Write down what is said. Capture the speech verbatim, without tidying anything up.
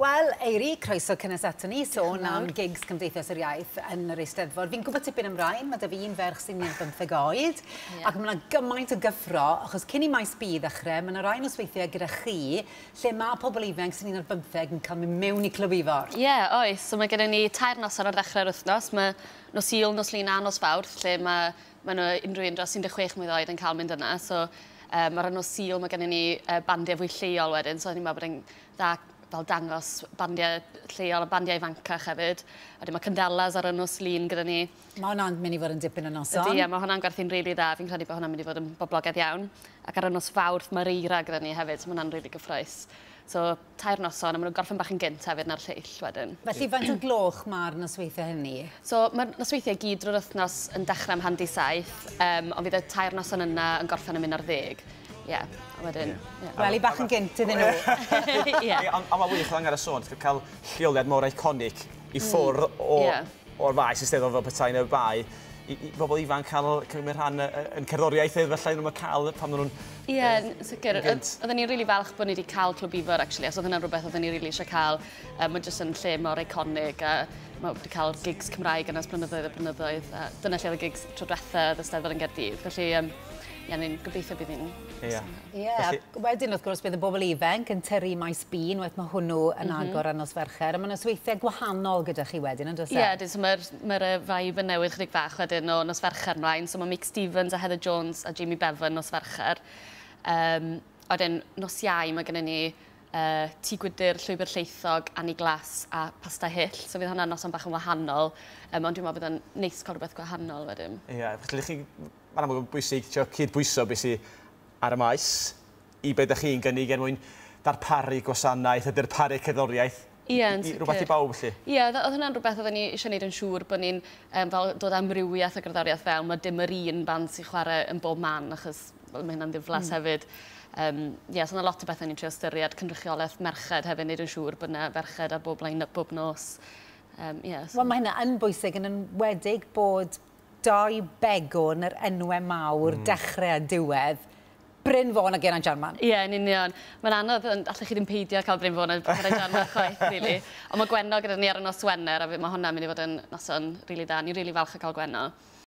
Wel, Eiri, croeso cynnes ato ni, sôn am gigs Cymdeithas yr Iaith yn yr Eisteddfod. Fi'n gwybod tipyn am rain, mae 'da fi un ferch sy'n un bymtheg oed, yeah. ac mae yna gymaint o gyffro, achos cyn i Maes B ddechrau, mae yna rai nosweithiau gyda chi, lle mae pobl ifanc sy'n un ar bymtheg yn cael mynd mewn i Clwb Ifor. Ie, yeah, oes. So mae gennym ni tair noson ar ddechrau'r wythnos. Mae nos Sul, nos Lun a nos Fawrth, lle mae, mae nhw unrhyw un dros un deg chwech mlwydd oed yn cael mynd yna. So, um, ar y nos Sul mae gennym ni uh, bandiau fwy lleol wedyn, so ni'n meddwl bod e'n dda fel dangos bandiau lleol a bandiau ifancach hefyd. A wedyn mae Candelas ar y nos Lun gyda ni. Mae hwnna'n mynd i fod yn dipyn o noson. Ydy, mae hwnna'n gwerthu'n rili really dda. Fi'n credu bod hwnna'n mynd i fod yn boblogaidd iawn. Ac ar y nos Fawrth mae'r Eira gyda ni hefyd, so mae hwnna'n rili really gyffrous. So tair noson, a maen nhw'n gorffen bach yn gynt hefyd na'r lleill wedyn. Felly faint o gloch mae'r nosweithiau hynny? So mae'r nosweithiau gyd drwy'r wythnos yn dechrau am hanner saith, um, ond fydd y tair noson yna yn gorffen am un ar ddeg. Ie, yeah, a wedyn... Yeah. Wel, i bach yn gynt iddyn nhw. Ie. Ond mae wych angen y sôn, cael lleoliad mor iconic i ffwrdd o, yeah. o'r faes Eisteddfod fel petai yn y bae, i, i bobl ifanc cael cymryd rhan yn cerddoriaeth felly nhw'n cael pan nhw'n... Ie, yeah, sicr. Oedden ni'n rili falch bod ni wedi cael Clwb Ifor, actually, os oedd hynna'n rhywbeth oedden ni rili eisiau cael. Um, Mae'n jyst yn lle mor eiconig a mae wedi cael gigs Cymraeg yna ers blynyddoedd a blynyddoedd. A dyna lle oedd y gigs tro diwetha oedd y Steddfod yn Gaerdydd. Felly, um, ie, ni'n gobeithio bydd hi'n... Ie. Ie, wedyn wrth gwrs bydd y bobl ifanc yn tyrru Maes B, unwaith mae hwnnw yn mm -hmm. agor ar nos Fercher, a mae nosweithiau gwahanol gyda chi wedyn, yn does e? Ie, yeah, so mae'r mae vibe yn newid chydig bach wedyn o nos Fercher ymlaen. So mae Mick Stevens a Heather Jones a Jamie Bevan nos Fercher. Um, wedyn nos Iau mae gennym ni uh, Tŷ Gwydr, Llwybr Llaethog, Annie Glass a Pasta Hyll. So fydd hwnna'n noson bach yn wahanol, um, ond dwi'n meddwl bydd yn neis cael rhywbeth gwahanol wedyn. Ie, yeah, felly chi... Mae'n amlwg yn bwysig trio cydbwyso beth sydd ar y maes i beth ydych chi'n gynnig er mwyn darparu gwasanaeth a darparu cerddoriaeth. Ie, yn sicr. Rhywbeth i bawb, felly. Ie, oedd hwnna'n rhywbeth oedden ni eisiau gwneud yn siŵr bod ni'n um, fel dod amrywiaeth o gerddoriaeth fewn. Mae dim yr un band sy'n chwarae yn bob man, achos well, mae hynna'n ddiflas mm. hefyd. Um, ie, so yna lot o bethau ni'n trio ystyried, cynrychiolaeth merched hefyd, wneud yn siŵr bod yna ferched ar bob line-up bob nos. Um, yeah, so. Wel, mae hynna yn bwysig yn enwedig bod dau begwn yr enwau mawr, mm. dechrau a diwedd, Bryn Fôn a Geraint Jarman. Ie, yeah, yn union. Mae'n anodd, allech chi ddim peidio cael Bryn Fôn a Geraint Jarman chwaith, really. Ond mae Gwenno gyda ni ar y nos Wener, a mae hwnna'n mynd i fod yn noson rili really da. Ni'n rili really falch o cael Gwenno.